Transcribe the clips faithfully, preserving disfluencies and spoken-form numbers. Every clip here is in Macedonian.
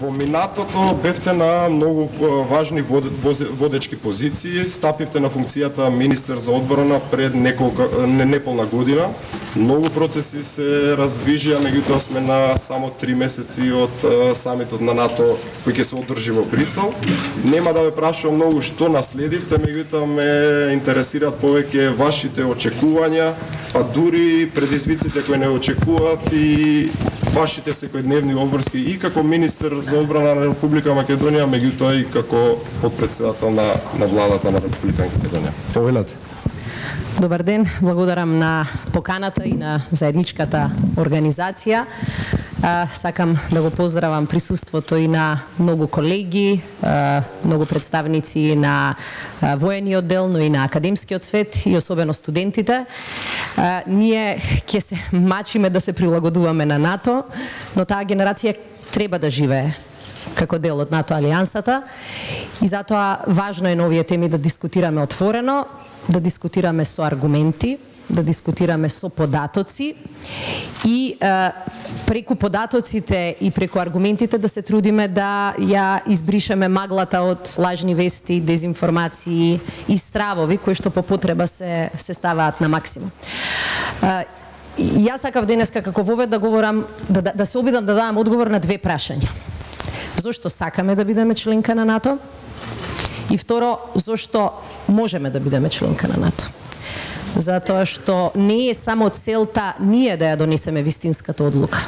Во минатото бевте на многу важни водечки позиции, стапивте на функцијата министер за одбрана пред неколку не, неполна година. Многу процеси се раздвижија, меѓутоа сме на само три месеци од самитот на НАТО кој ќе се одржи во Брисел. Нема да ве прашувам многу што наследивте, меѓутоа ме интересираат повеќе вашите очекувања, па дури предизвиците кои не очекуваат и вашите секојдневни обврски и како министер за одбрана на Република Македонија, меѓутоа и како подпредседател на, на владата на Република Македонија. Повелете. Добар ден, благодарам на поканата и на заедничката организација. А, сакам да го поздравам присуството и на многу колеги, а, многу представници на а, воениот дел, но и на академскиот свет и особено студентите. А, ние ќе се мачиме да се прилагодуваме на НАТО, но таа генерација треба да живее како дел од НАТО алијансата и затоа важно е на овие теми да дискутираме отворено, да дискутираме со аргументи, да дискутираме со податоци и е, преку податоците и преку аргументите да се трудиме да ја избришеме маглата од лажни вести, дезинформации и стравови кои што по потреба се се ставаат на максимум. Е, Јас сакав денеска како вовед да говорам, да, да, да се обидам да дадам одговор на две прашања. Зошто сакаме да бидеме членка на НАТО? И второ, зошто можеме да бидеме членка на НАТО? Затоа што не е само целта ние да ја донесеме вистинската одлука.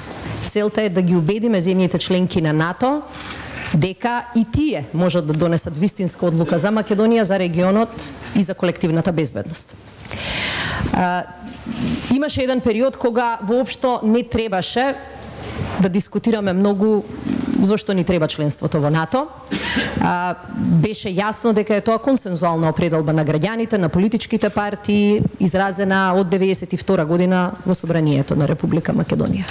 Целта е да ги убедиме земјите членки на НАТО дека и тие можат да донесат вистинска одлука за Македонија, за регионот и за колективната безбедност. А, имаше еден период кога воопшто не требаше да дискутираме многу зошто ни треба членството во НАТО. А, беше јасно дека е тоа консензуална определба на граѓаните, на политичките партии, изразена од деветдесет и втора година во Собранието на Република Македонија.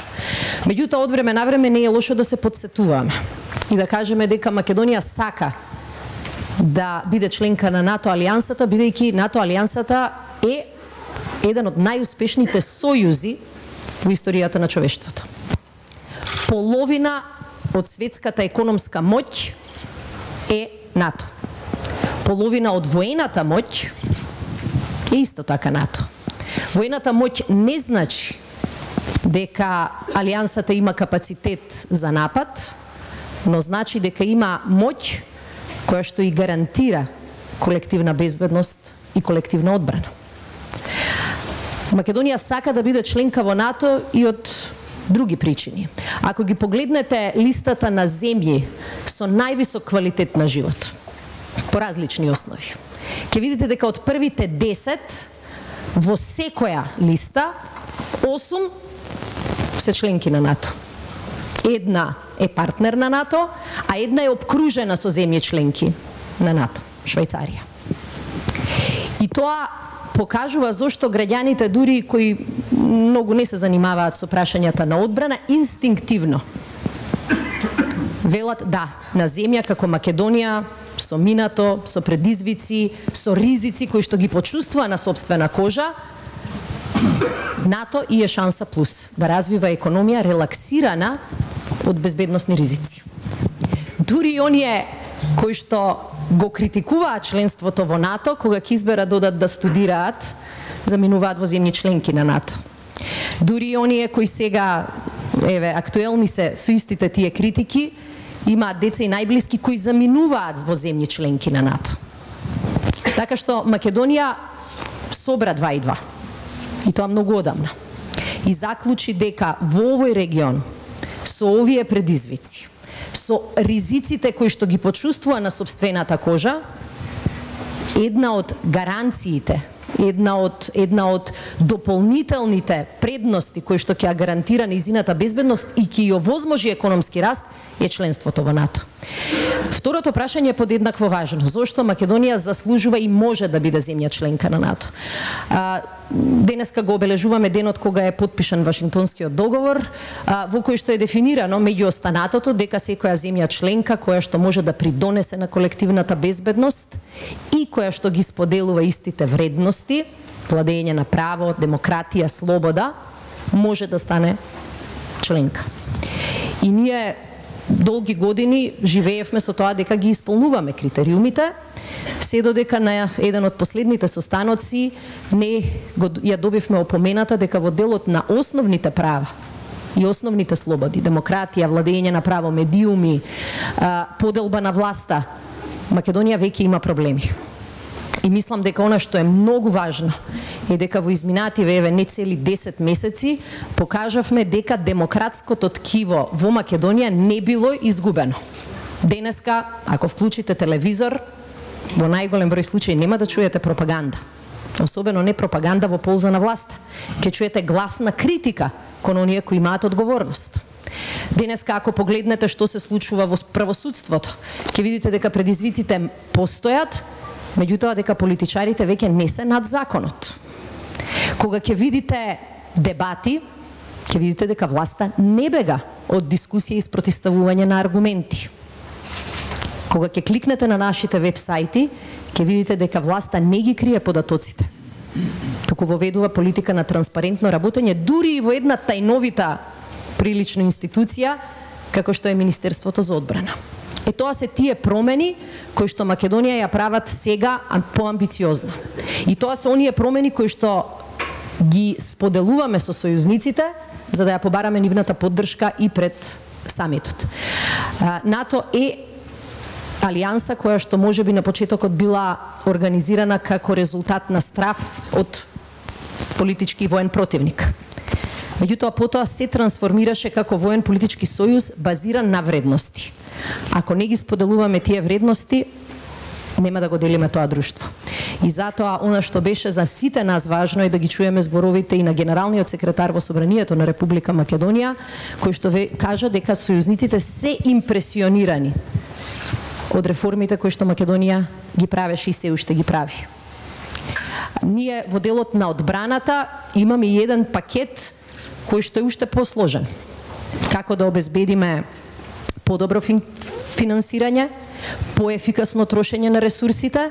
Меѓутоа, од време на време не е лошо да се подсетуваме и да кажеме дека Македонија сака да биде членка на НАТО алијансата, бидејќи НАТО алијансата е еден од најуспешните сојузи во историјата на човештвото. Половина од светската економска моќ е НАТО. Половина од воената моќ е исто така НАТО. Воената моќ не значи дека алијансата има капацитет за напад, но значи дека има моќ која што и гарантира колективна безбедност и колективна одбрана. Македонија сака да биде членка во НАТО и од други причини. Ако ги погледнете листата на земји со највисок квалитет на живот, по различни основи, ќе видите дека од првите десет во секоја листа, осум се членки на НАТО. Една е партнер на НАТО, а една е обкружена со земји членки на НАТО, Швајцарија. И тоа покажува зошто граѓаните, дури кои многу не се занимаваат со прашањата на одбрана, инстинктивно велат да, на земја како Македонија, со минато, со предизвици, со ризици кои што ги почувствува на собствена кожа, НАТО и е шанса плюс да развива економија релаксирана од безбедносни ризици. Дури и оние кои што го критикуваат членството во НАТО, кога ќе изберат да одат да студираат, заминуваат во земји членки на НАТО. Дури и оние кои сега, еве, актуелни се со истите тие критики, имаат деца и најблиски кои заминуваат во земји членки на НАТО. Така што Македонија собра два и два. И тоа многу одамна. И заклучи дека во овој регион, со овие предизвици, со ризиците кои што ги почувствува на собствената кожа, една од гаранциите, една од една од дополнителните предности кои што ќе гарантира нејзината безбедност и ќе ја овозможи економски раст е членството во НАТО. Второто прашање е подеднакво важно. Зошто Македонија заслужува и може да биде земја членка на НАТО? А, денеска го обележуваме денот кога е потпишан Вашингтонскиот договор, а, во кој што е дефинирано меѓу останатото дека секоја земја членка која што може да придонесе на колективната безбедност и која што ги споделува истите вредности, владење на право, демократија, слобода, може да стане членка. И ние долги години живеевме со тоа дека ги исполнуваме критериумите, се додека на еден од последните состаноци не го, ја добивме опомената дека во делот на основните права и основните слободи, демократија, владење на право, медиуми, поделба на власта, Македонија веќе има проблеми. И мислам дека она што е многу важно е дека во изминативе еве не цели десет месеци покажавме дека демократското ткиво во Македонија не било изгубено. Денеска, ако вклучите телевизор, во најголем број случаи нема да чуете пропаганда. Особено не пропаганда во полза на власта. Ке чуете гласна критика кон оние кои имаат одговорност. Денеска, ако погледнете што се случува во правосудството, ќе видите дека предизвиците постојат, меѓутоа дека политичарите веќе не се над законот. Кога ќе видите дебати, ќе видите дека власта не бега од дискусија и спротивставување на аргументи. Кога ќе кликнете на нашите веб-сајти, ќе видите дека власта не ги крие податоците, туку воведува политика на транспарентно работење, дури и во една тајновита прилично институција, како што е Министерството за одбрана. Е тоа се тие промени кои што Македонија ја прават сега поамбициозно. И тоа се оние промени кои што ги споделуваме со сојузниците за да ја побараме нивната поддршка и пред самитот. НАТО е алијанса која што можеби на почетокот била организирана како резултат на страв од политички и воен противник. Меѓутоа потоа се трансформираше како воен политички сојуз базиран на вредности. Ако не ги споделуваме тие вредности, нема да го делиме тоа друштво. И затоа она што беше за сите нас важно е да ги чуеме зборовите и на генералниот секретар во Собранието на Република Македонија, кој што ве кажа дека сојузниците се импресионирани од реформите кои што Македонија ги правеше и се уште ги прави. Ние во делот на одбраната имаме и еден пакет кој што е уште посложен. Како да обезбедиме подобро финансирање, поефикасно трошење на ресурсите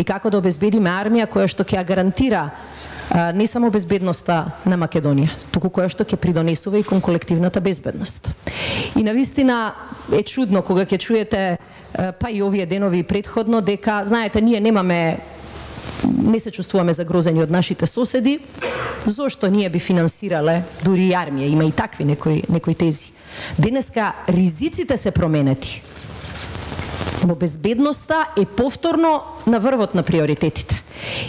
и како да обезбедиме армија која што ќе ја гарантира не само безбедноста на Македонија, туку која што ќе придонесува и кон колективната безбедност. И навистина е чудно кога ќе чуете, па и овие денови предходно, дека, знаете, ние немаме не се чувствуваме загрозени од нашите соседи, зошто ние би финансирале дури и армија, има и такви некои, некои тези. Денеска ризиците се променети, но безбедноста е повторно на врвот на приоритетите.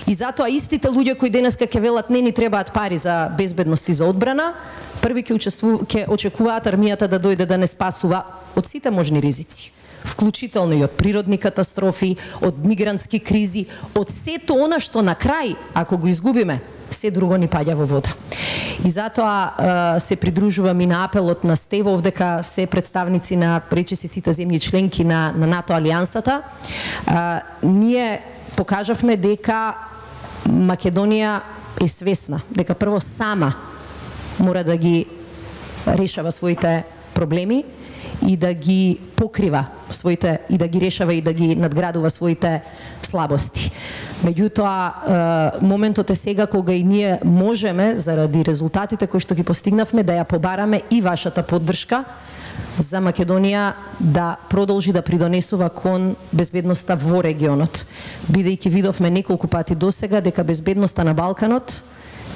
И затоа истите луѓе кои денеска ќе велат не ни требаат пари за безбедност и за одбрана, први ќе ќе очекуваат армијата да дојде да не спасува од сите можни ризици, вклучително и од природни катастрофи, од мигрантски кризи, од сето она што на крај, ако го изгубиме, се друго ни паѓа во вода. И затоа се придружувам и на апелот на Стевов дека се представници на речиси сите земји членки на, на НАТО алијансата. А, ние покажавме дека Македонија е свесна, дека прво сама мора да ги решава своите проблеми и да ги покрива своите, и да ги решава и да ги надградува своите слабости. Меѓутоа, моментот е сега кога и ние можеме, заради резултатите кои што ги постигнавме, да ја побараме и вашата поддршка за Македонија да продолжи да придонесува кон безбедноста во регионот. Бидејќи видовме неколку пати досега дека безбедноста на Балканот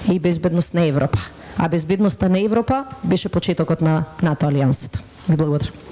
е и безбедност на Европа. А безбедноста на Европа беше почетокот на НАТО алијансата. Ви благодарам.